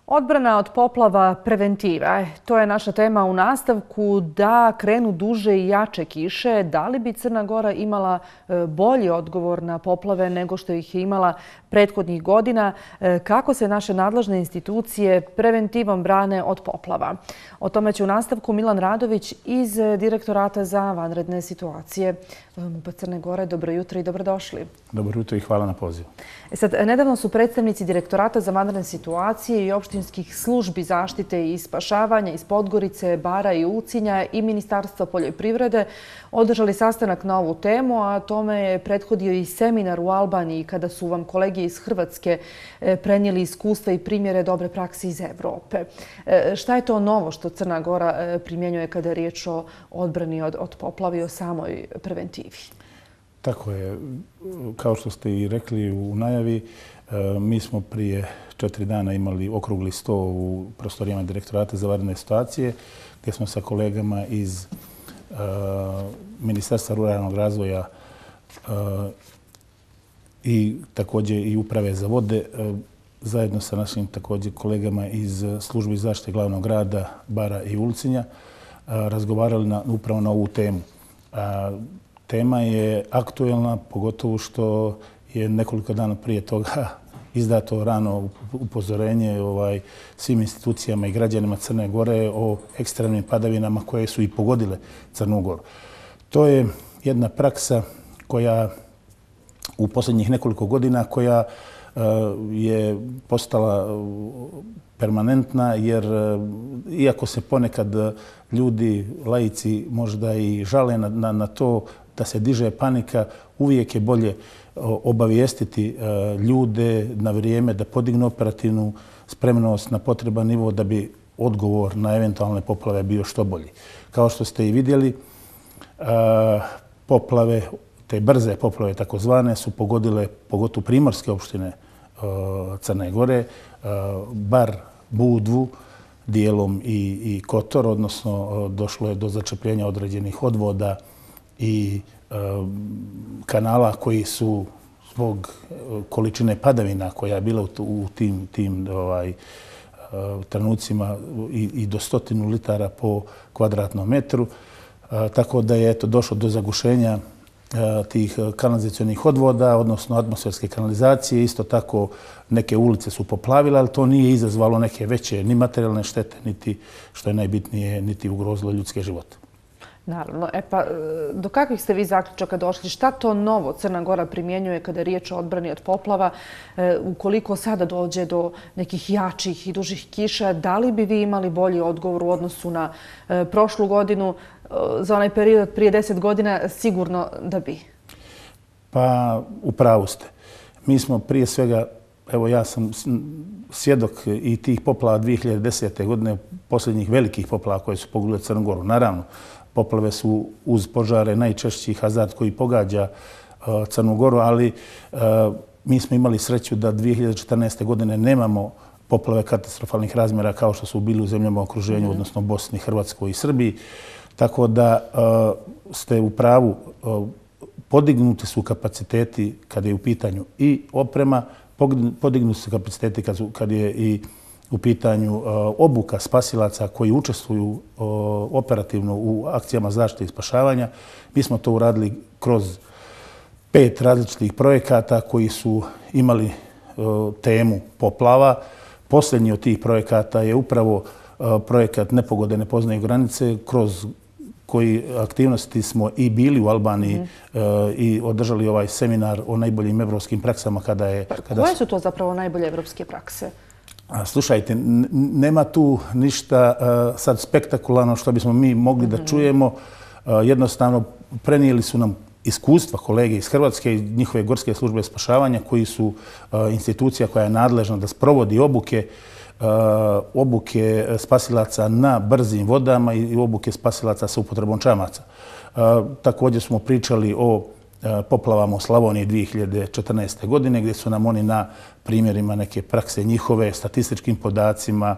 Odbrana od poplava, preventiva. To je naša tema u nastavku. Da krenu duže i jače kiše, da li bi Crna Gora imala bolji odgovor na poplave nego što ih je imala prethodnih godina? Kako se naše nadležne institucije preventivom brane od poplava? O tome će u nastavku Milan Radović iz Direktorata za vanredne situacije MUP-a Crne Gore. Dobro jutro i dobrodošli. Dobro jutro i hvala na pozivu. Nedavno su predstavnici Direktorata za vanredne situacije i opštinskih službi zaštite i spašavanja iz Podgorice, Bara i Ulcinja i Ministarstva poljoprivrede održali sastanak na ovu temu, a tome je prethodio i seminar u Albaniji kada su vam kolege iz Hrvatske prenijeli iskustva i primjere dobre prakse iz Evrope. Šta je to novo što Crna Gora primjenjuje kada je riječ o odbrani od poplava i o samoj preventivi? Tako je. Kao što ste i rekli u najavi, mi smo prije 4 dana imali okrugli sto u prostorijama Direktorata za vanredne situacije, gdje smo sa kolegama iz Ministarstva ruralnog razvoja i također i Uprave za vode, zajedno sa našim također kolegama iz Službi zaštite glavnog grada Bara i Ulcinja, razgovarali upravo na ovu temu. Tema je aktuelna, pogotovo što je nekoliko dana prije toga izdato rano upozorenje svim institucijama i građanima Crne Gore o ekstremnim padavinama koje su i pogodile Crnu Goru. To je jedna praksa koja u posljednjih nekoliko godina koja je postala permanentna, jer iako se ponekad ljudi, laici možda i žale na to da se diže panika, uvijek je bolje obavijestiti ljude na vrijeme da podignu operativnu spremnost na potreban nivo da bi odgovor na eventualne poplave bio što bolji. Kao što ste i vidjeli, poplave, te brze poplave takozvane, su pogodile pogotovo primorske opštine Crne Gore, Bar, Budvu, dijelom i Kotor, odnosno došlo je do začepljenja određenih odvoda i kanala koji su zbog količine padavina koja je bila u tim trenucima i do 100 litara po kvadratnom metru. Tako da je došlo do zagušenja tih kanalizacionih odvoda, odnosno atmosferske kanalizacije. Isto tako neke ulice su poplavile, ali to nije izazvalo neke veće ni materijalne štete, niti, što je najbitnije, niti ugrozilo ljudske živote. Naravno. Do kakvih ste vi zaključaka došli? Šta to novo Crna Gora primjenjuje kada je riječ o odbrani od poplava? Ukoliko sada dođe do nekih jačih i dužih kiša, da li bi vi imali bolji odgovor u odnosu na prošlu godinu? Za onaj period prije 10 godina sigurno da bi. Pa, u pravu ste. Mi smo prije svega, evo ja sam svjedok i tih poplava 2010. godine, posljednjih velikih poplava koje su pogodile Crnu Goru. Naravno, poplave su uz požare najčešći hazard koji pogađa Crnu Goru, ali mi smo imali sreću da 2014. godine nemamo poplave katastrofalnih razmjera kao što su bili u zemljama u okruženju, odnosno Bosni, Hrvatskoj i Srbiji. Tako da ste u pravu, podignuti su kapaciteti kada je u pitanju i oprema, podignuti su kapaciteti kad je i u pitanju obuka spasilaca koji učestvuju operativno u akcijama zaštite i spašavanja. Mi smo to uradili kroz 5 različitih projekata koji su imali temu poplava. Posljednji od tih projekata je upravo projekat Nepogode ne poznaju granice, kroz koji aktivnosti smo i bili u Albaniji i održali ovaj seminar o najboljim evropskim praksama. Koje su to zapravo najbolje evropske prakse? Slušajte, nema tu ništa sad spektakularno što bismo mi mogli da čujemo. Jednostavno, prenijeli su nam iskustva kolege iz Hrvatske i njihove gorske službe spašavanja, koji su institucija koja je nadležna da sprovodi obuke spasilaca na brzim vodama i obuke spasilaca sa upotrebom čamaca. Također smo pričali o poplavama u Slavoniji 2014. godine, gdje su nam oni na primjerima neke prakse njihove, statističkim podacima,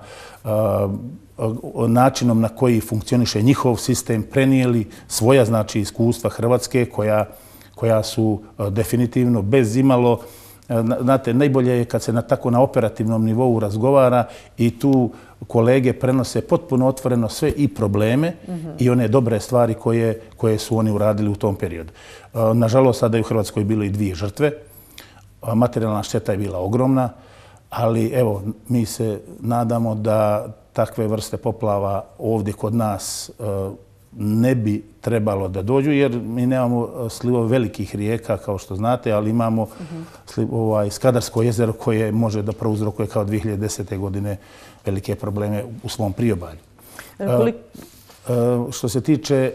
načinom na koji funkcioniše njihov sistem, prenijeli svoja iskustva Hrvatske koja su definitivno bez imalo Znate, najbolje je kad se tako na operativnom nivou razgovara i tu kolege prenose potpuno otvoreno sve i probleme i one dobre stvari koje su oni uradili u tom periodu. Nažalost, sada je u Hrvatskoj bilo i 2 žrtve. Materijalna šteta je bila ogromna, ali evo, mi se nadamo da takve vrste poplava ovdje kod nas ne bi trebalo da dođu, jer mi nemamo slivove velikih rijeka, kao što znate, ali imamo Skadarsko jezero koje može da prouzrokuje kao 2010. godine velike probleme u svom priobalju. Što se tiče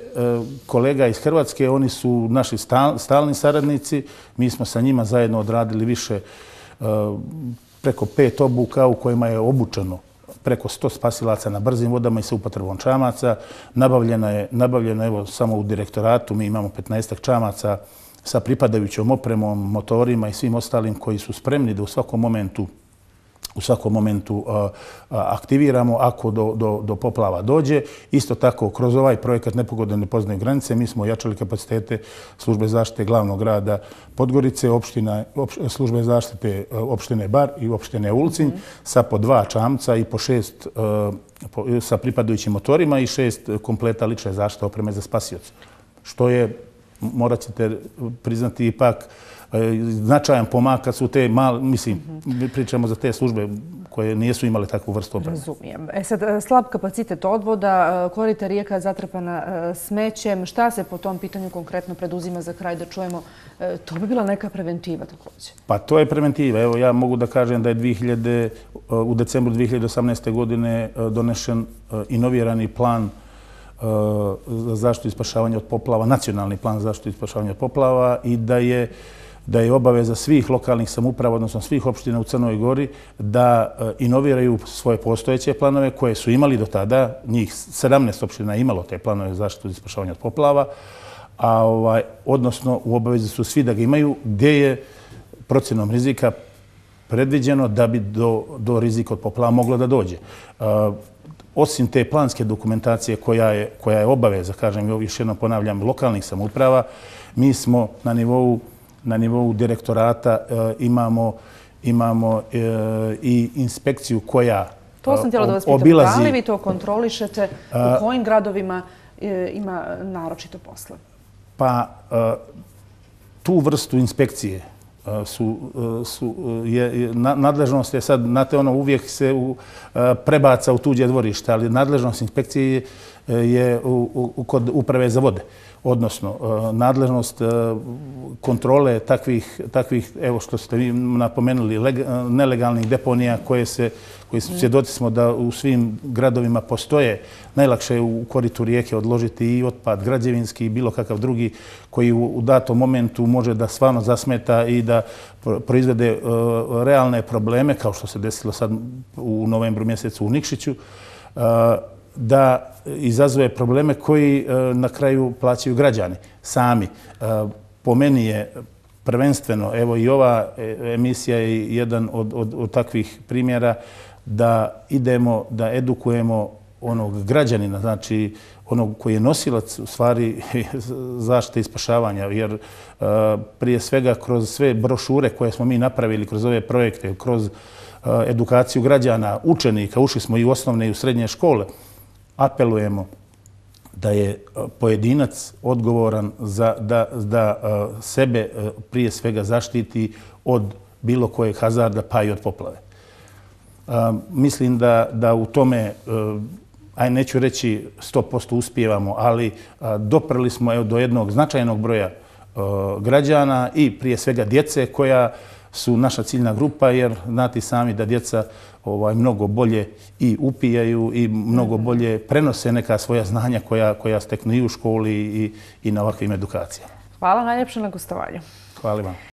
kolega iz Hrvatske, oni su naši stalni saradnici. Mi smo sa njima zajedno odradili više, preko 5 obuka u kojima je obučeno preko 100 spasilaca na brzim vodama i sa upotrebom čamaca. Nabavljeno je, evo, samo u direktoratu mi imamo 15 čamaca sa pripadajućom opremom, motorima i svim ostalim koji su spremni da u svakom momentu aktiviramo ako do poplava dođe. Isto tako, kroz ovaj projekat Nepogode ne poznaju granice, mi smo ojačali kapacitete službe zaštite glavnog grada Podgorice, službe zaštite opštine Bar i opštine Ulcinj sa po 2 čamca i po 6 sa pripadajućim motorima i 6 kompleta lične zaštite opreme za spasioce. Što je, morat ćete priznati, ipak značajan pomak kad su te male, mislim, pričamo za te službe koje nisu imale takvu vrstu opreme. Razumijem. Sad, slab kapacitet odvoda, korita rijeka zatrpana smećem. Šta se po tom pitanju konkretno preduzima za kraj da čujemo? To bi bila neka preventiva također. Pa to je preventiva. Evo, ja mogu da kažem da je u decembru 2018. godine donešen inovirani plan za zaštitu i spašavanje od poplava, nacionalni plan za zaštitu i spašavanje od poplava i da je obaveza svih lokalnih samouprava, odnosno svih opština u Crnoj Gori, da inoviraju svoje postojeće planove koje su imali do tada. Njih 17 opština je imalo te planove za zaštitu i spašavanje od poplava, odnosno u obavezi su svi da ga imaju, gdje je procjenom rizika predviđeno da bi do rizika od poplava moglo da dođe. Osim te planske dokumentacije koja je obaveza, kažem, još jednom ponavljam, lokalnih samouprava, mi smo na nivou direktorata imamo i inspekciju koja obilazi... To sam htjela da vas pitam. Da li vi to kontrolišete? U kojim gradovima ima naročito posla? Pa tu vrstu inspekcije nadležnost je sad, znate, uvijek se prebaca u tuđe dvorište, ali nadležnost inspekcije je kod uprave za vode. Odnosno, nadležnost kontrole takvih, evo što ste vi napomenuli, nelegalnih deponija koje svjedoci smo da u svim gradovima postoje. Najlakše je u koritu rijeke odložiti i otpad građevinski i bilo kakav drugi koji u datom momentu može da stvarno zasmeta i da proizvede realne probleme, kao što se desilo sad u novembru mjesecu u Nikšiću, da izazove probleme koji na kraju plaćaju građani sami. Po meni je prvenstveno, evo i ova emisija je jedan od takvih primjera, da idemo, da edukujemo onog građanina, znači onog koji je nosilac u stvari zaštite i spašavanja, jer prije svega kroz sve brošure koje smo mi napravili, kroz ove projekte, kroz edukaciju građana, učenika, ušli smo i u osnovne i u srednje škole, apelujemo da je pojedinac odgovoran da sebe prije svega zaštiti od bilo kojeg hazarda, pa i od poplave. Mislim da u tome, neću reći 100% uspijevamo, ali doprli smo do jednog značajnog broja građana i prije svega djece koja su naša ciljna grupa, jer znate sami da djeca mnogo bolje i upijaju i mnogo bolje prenose neka svoja znanja koja steknu i u školi i na ovakvim edukacijama. Hvala najljepše na gostovanju. Hvala vam.